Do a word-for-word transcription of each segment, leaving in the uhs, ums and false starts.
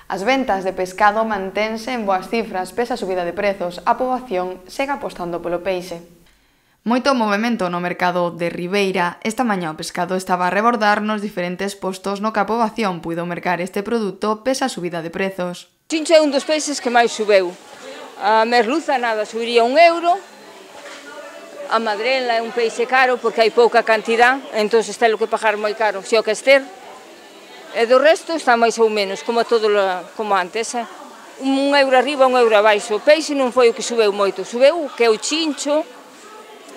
As ventas de pescado mantense en boas cifras pese a subida de prezos. A poboación segue apostando polo peixe. Moito movimento no mercado de Ribeira. Esta mañá o pescado estaba a rebordar nos diferentes postos no que a poboación puido mercar este produto pese a subida de prezos. O chincho é un dos peixes que máis subeu. A merluza nada, subiría un euro. A madrela é un peixe caro porque hai pouca cantidad, entón está lo que pagar moi caro, se o que ester. E do resto está máis ou menos, como todo como antes. Eh? Un euro arriba, un euro abaixo. O peixe non foi o que subeu moito, subeu que é o chincho.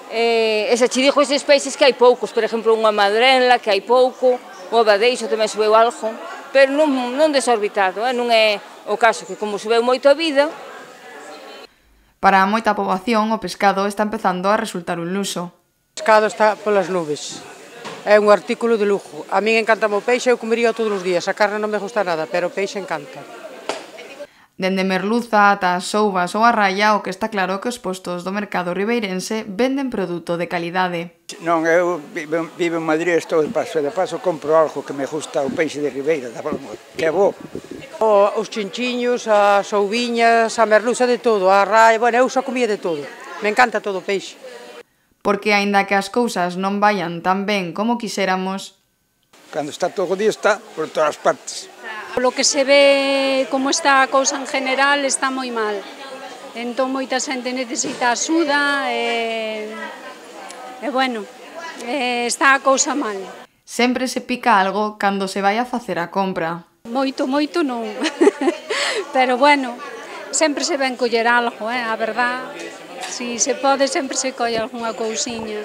E se che dixo estes peixes que hai poucos, por exemplo, unha madrela que hai pouco, o abadeixo tamén subeu algo, pero non, non desorbitado, eh? Non é o caso que como subeu moito a vida. Para moita poboación o pescado está empezando a resultar un luxo. O pescado está polas nubes, é un artículo de lujo. A min encanta o peixe, eu comería todos os días, a carne non me gusta nada, pero o peixe encanta. Dende merluza ata as souvas ou a raya, o que está claro que os postos do mercado ribeirense venden produto de calidade. Non, eu vivo, vivo en Madrid, estou de paso, e de paso compro algo que me gusta, o peixe de Ribeira, que é bo. O, os chinchiños, as souviñas, a merluza, de todo, a raya, bueno, eu só comía de todo. Me encanta todo o peixe. Porque aínda que as cousas non vayan tan ben como quixéramos, cando está todo o día está por todas as partes. Lo que se ve como está a cousa en general está moi mal. Entón moita xente necesita axuda e, e bueno, e está a cousa mal. Sempre se pica algo cando se vai a facer a compra. Moito, moito non. Pero bueno, sempre se ven coller algo, eh? A verdad, si se pode sempre se colle algunha cousiña.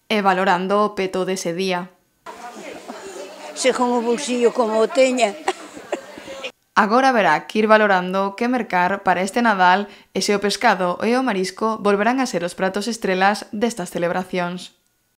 E valorando o peto dese día. Según o bolsillo como o teña. Agora verá que ir valorando que mercar para este Nadal e se o pescado e o marisco volverán a ser os pratos estrelas destas celebracións.